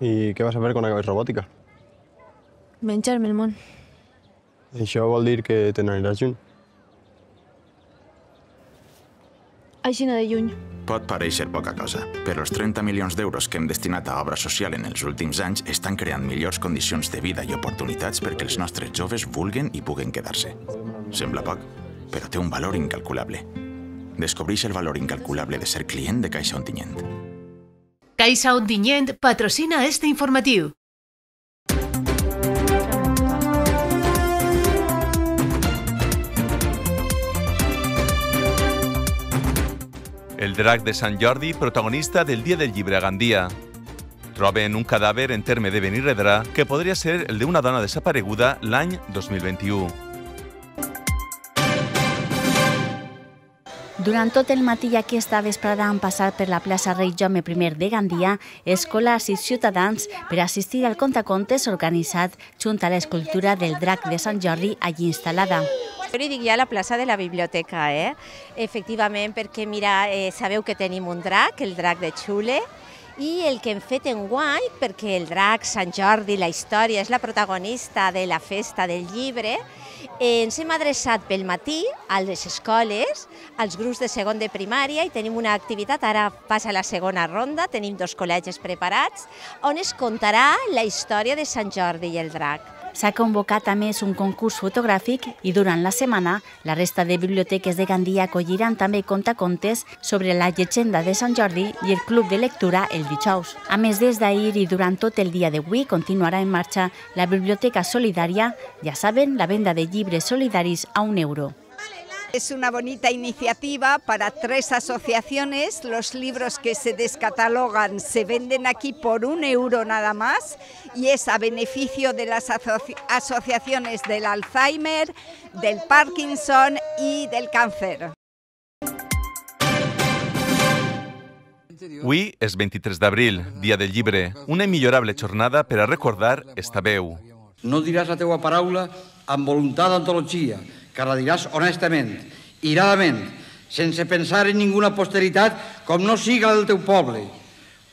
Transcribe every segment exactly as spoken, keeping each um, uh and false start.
I què vas a fer quan acabes robòtica? Menjar-me el món. Això vol dir que te n'aniràs lluny. Aixina de lluny. Pot parèixer poca cosa, però els trenta milions d'euros que hem destinat a obra social en els últims anys estan creant millors condicions de vida i oportunitats perquè els nostres joves vulguen i puguen quedar-se. Sembla poc, però té un valor incalculable. Descobreix el valor incalculable de ser client de Caixa Ontinyent. Caixa Ontinyent patrocina este informatiu. El drac de Sant Jordi, protagonista del Dia del Llibre a Gandia. Troben un cadàver en terme de Benirredrà que podria ser el d'una dona desapareguda l'any dos mil vint-i-u. Durant tot el matí i aquesta vesprada han passat per la plaça Rei Jaume primer de Gandia escolars i ciutadans per assistir al contacontes organitzat junt a l'escultura del drac de Sant Jordi allí instal·lada. Jo li dic ja a la plaça de la biblioteca, eh? Efectivament, perquè mira, eh, sabeu que tenim un drac, el drac de Xule, i el que hem fet enguany, perquè el drac, Sant Jordi, la història, és la protagonista de la festa del llibre, eh, ens hem adreçat pel matí a les escoles, als grups de segon de primària, i tenim una activitat, ara passa la segona ronda, tenim dos col·legis preparats, on es contarà la història de Sant Jordi i el drac. S'ha convocat a més un concurs fotogràfic i durant la setmana la resta de biblioteques de Gandia acolliran també contacontes sobre la llegenda de Sant Jordi i el club de lectura el dijous. A més, des d'ahir i durant tot el dia d'avui continuarà en marxa la Biblioteca Solidària, ja saben, la venda de llibres solidaris a un euro. Es una bonita iniciativa para tres asociaciones. Los libros que se descatalogan se venden aquí por un euro nada más y es a beneficio de las asoci asociaciones del Alzheimer, del Parkinson y del cáncer. Avui és vint-i-tres d'abril, dia del llibre, una immillorable jornada per a recordar esta veu. No diràs la teua paraula amb voluntat d'antologia, que la diràs honestament, iradament, sense pensar en ninguna posteritat com no siga la del teu poble.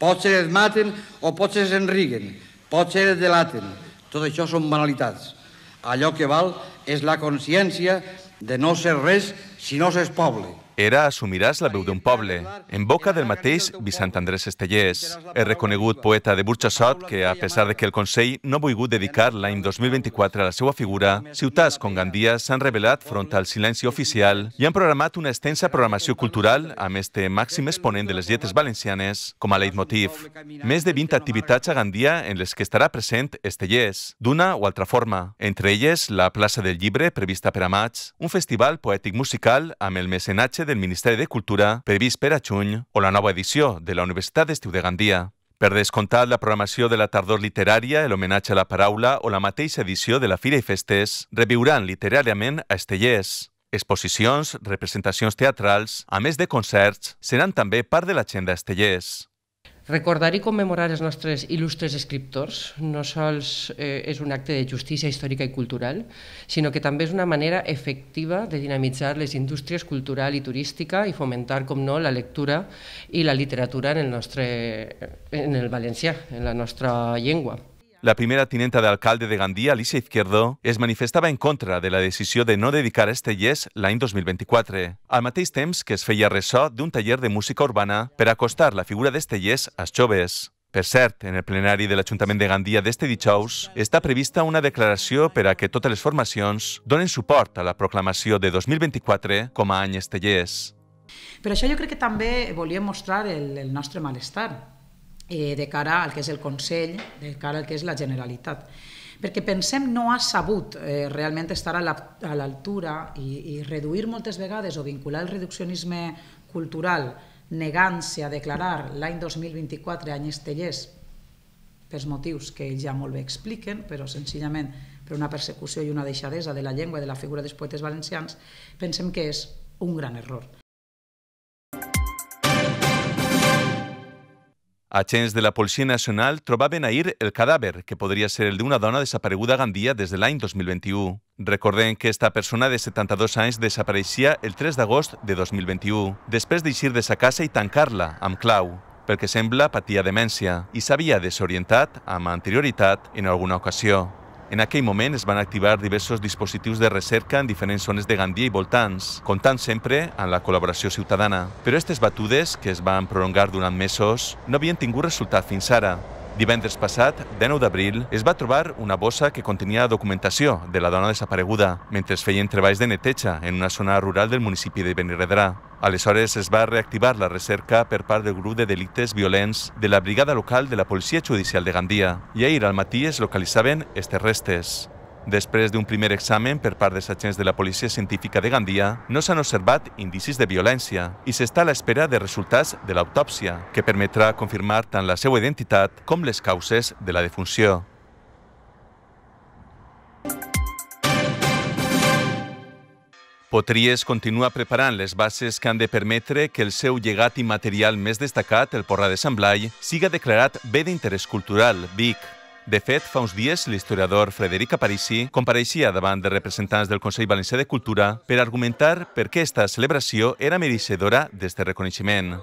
Potser et maten o potser es enriguen, potser et delaten. Tot això són banalitats. Allò que val és la consciència de no ser res si no s'és poble. Era Assumiràs la veu d'un poble, en boca del mateix Vicent Andrés Estellés, el reconegut poeta de Burxassot que, a pesar de que el Consell no ha volgut dedicar l'any dos mil vint-i-quatre a la seva figura, ciutats com Gandia s'han revelat front al silenci oficial i han programat una extensa programació cultural amb este màxim exponent de les lletres valencianes com a leitmotiv. Més de vint activitats a Gandia en les que estarà present Estellés, d'una o altra forma. Entre elles, la plaça del llibre, prevista per a maig, un festival poètic musical amb el mecenatge del Ministeri de Cultura, previst per a juny, o la nova edició de la Universitat d'Estiu de Gandia. Per descomptat, la programació de la tardor literària, l'homenatge a la paraula o la mateixa edició de la Fira i Festes reviuran literàriament a Estellés. Exposicions, representacions teatrals, a més de concerts, seran també part de l'agenda Estellés. Recordar i commemorar els nostres il·lustres escriptors no sols eh, és un acte de justícia històrica i cultural, sinó que també és una manera efectiva de dinamitzar les indústries cultural i turística i fomentar, com no, la lectura i la literatura en el nostre, en el valencià, en la nostra llengua. La primera tinenta d'alcalde de Gandia, Alicia Izquierdo, es manifestava en contra de la decisió de no dedicar a Estellés l'any dos mil vint-i-quatre, al mateix temps que es feia ressò d'un taller de música urbana per acostar la figura d'Estellés als joves. Per cert, en el plenari de l'Ajuntament de Gandia d'este dijous està prevista una declaració per a que totes les formacions donen suport a la proclamació de dos mil vint-i-quatre com a any Estellés. Per això jo crec que també volíem mostrar el, el nostre malestar eh, de cara al que és el Consell, de cara al que és la Generalitat. Perquè pensem no ha sabut eh, realment estar a l'altura i, i reduir moltes vegades o vincular el reduccionisme cultural negant-se a declarar l'any dos mil vint-i-quatre any Estellés pels motius que ells ja molt bé expliquen, però senzillament per una persecució i una deixadesa de la llengua i de la figura dels poetes valencians, pensem que és un gran error. Agents de la Policia Nacional trobaven ahir el cadàver, que podria ser el d'una dona desapareguda a Gandia des de l'any dos mil vint-i-u. Recordem que esta persona de setanta-dos anys desapareixia el tres d'agost de dos mil vint-i-u, després d'eixir de sa casa i tancar-la amb clau. pel que sembla patia demència i s'havia desorientat amb anterioritat en alguna ocasió. En aquell moment es van activar diversos dispositius de recerca en diferents zones de Gandia i voltants, comptant sempre amb la col·laboració ciutadana. Però aquestes batudes, que es van prolongar durant mesos, no havien tingut resultat fins ara. Divendres passat, dinou d'abril, es va trobar una bossa que contenia documentació de la dona desapareguda mentre es feien treballs de neteja en una zona rural del municipi de Benirredrà. Aleshores es va reactivar la recerca per part del grup de delictes violents de la brigada local de la Policia Judicial de Gandia i ahir al matí es localitzaven aquestes restes. Després d'un primer examen per part dels agents de la Policia Científica de Gandia, no s'han observat indicis de violència i s'està a l'espera de resultats de l'autòpsia, que permetrà confirmar tant la seva identitat com les causes de la defunció. Potries continua preparant les bases que han de permetre que el seu llegat immaterial més destacat, el Porrà de Sant Blai, siga declarat bé d'interès cultural, Vic. De fet, fa uns dies, l'historiador Frederic Aparici compareixia davant de representants del Consell Valencià de Cultura per argumentar per què aquesta celebració era mereixedora d'este reconeixement.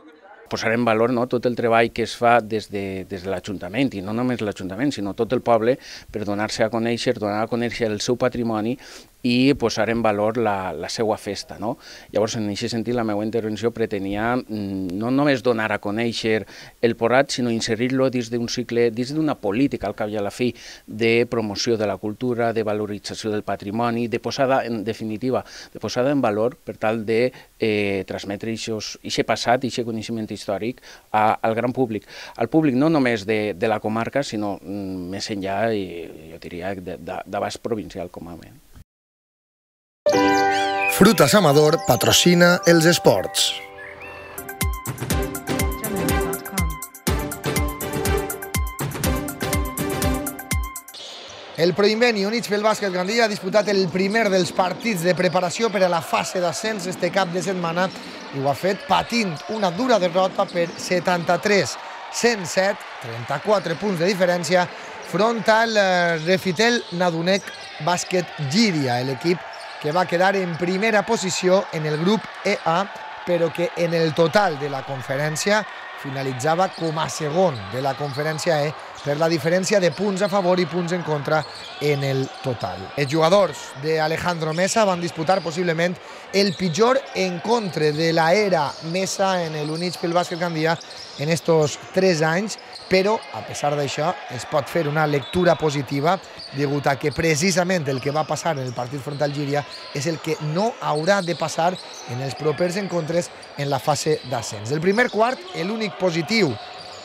Posar en valor no, tot el treball que es fa des de, des de l'Ajuntament, i no només l'Ajuntament, sinó tot el poble, per donar-se a conèixer, donar a conèixer el seu patrimoni i posar en valor la, la seva festa. No? Llavors, en aquest sentit, la meva intervenció pretenia no només donar a conèixer el Porrat, sinó inserir-lo dins d'un cicle, dins d'una política, al cap i a la fi, de promoció de la cultura, de valorització del patrimoni, de posada, en definitiva, de posada en valor per tal de eh, transmetre aquest passat, aquest coneixement històric a, al gran públic. Al públic no només de, de la comarca, sinó mm, més enllà, i, jo diria, d'abast provincial com a mínim. Frutas Amador patrocina els esports. El Proinveni, units pel bàsquet Gandia, ha disputat el primer dels partits de preparació per a la fase d'ascens este cap de setmana i ho ha fet patint una dura derrota per setanta-tres a cent set, trenta-quatre punts de diferència, front al Refitel Nadunec Bàsquet Llíria, l'equip que va quedar en primera posició en el grup E A, però que en el total de la conferència finalitzava com a segon de la conferència E per la diferència de punts a favor i punts en contra en el total. Els jugadors d'Alejandro Mesa van disputar possiblement el pitjor encontre de l'era Mesa en l'Units pel Bàsquet Gandia en estos tres anys, però, a pesar d'això, es pot fer una lectura positiva degut a que precisament el que va passar en el partit front al Llíria és el que no haurà de passar en els propers encontres en la fase d'ascens. El primer quart, l'únic positiu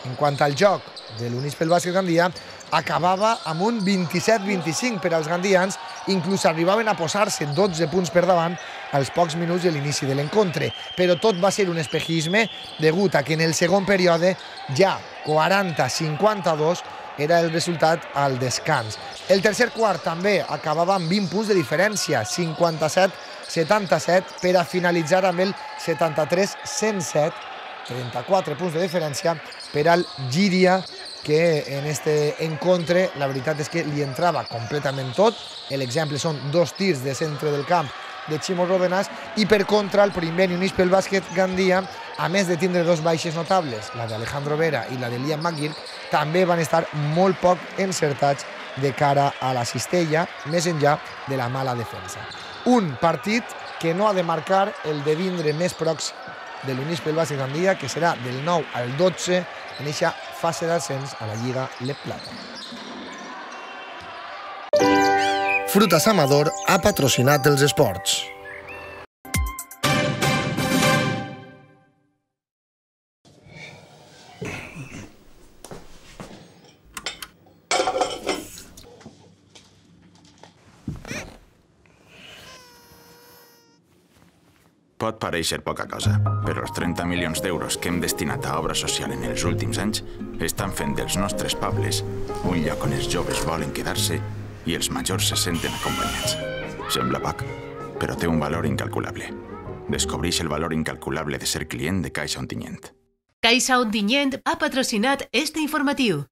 en quant al joc de l'Units pel Bàsquet Gandia, acabava amb un vint-i-set vint-i-cinc per als gandians, inclús arribaven a posar-se dotze punts per davant als pocs minuts de l'inici de l'encontre. Però tot va ser un espejisme degut a que en el segon període ja quaranta a cinquanta-dos era el resultat al descans. El tercer quart també acabava amb vint punts de diferència, cinquanta-set a setanta-set, per a finalitzar amb el setanta-tres a cent set, trenta-quatre punts de diferència per al Llíria, que en este encontre la veritat és que li entrava completament tot. L'exemple són dos tirs de centre del camp de Ximo Ródenas i per contra el Proinveni Units pel Bàsquet Gandia, a més de tindre dos baixes notables, la d'Alejandro Vera i la de Liam McGurk, també van estar molt poc encertats de cara a la cistella, més enllà de la mala defensa. Un partit que no ha de marcar el de vindre més pròxim de l'Units pel Bàsquet Gandia, que serà del nou al dotze en aquesta fase d'ascens a la Lliga Le Plata. Frutas Amador ha patrocinat els esports. Pot pareixer poca cosa, però els trenta milions d'euros que hem destinat a obra social en els últims anys estan fent dels nostres pobles un lloc on els joves volen quedar-se i els majors se senten acompanyats. Sembla poc, però té un valor incalculable. Descobreix el valor incalculable de ser client de Caixa Ontinyent. Caixa Ontinyent ha patrocinat este informatiu.